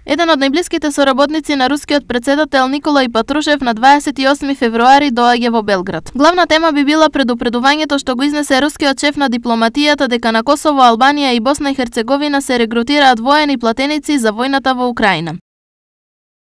Еден од најблиските соработници на рускиот претседател Николај Патрушев на 28 февруари доаѓа во Белград. Главна тема би била предупредувањето што го изнесе рускиот шеф на дипломатијата дека на Косово, Албанија и Босна и Херцеговина се регрутираат воени платеници за војната во Украина.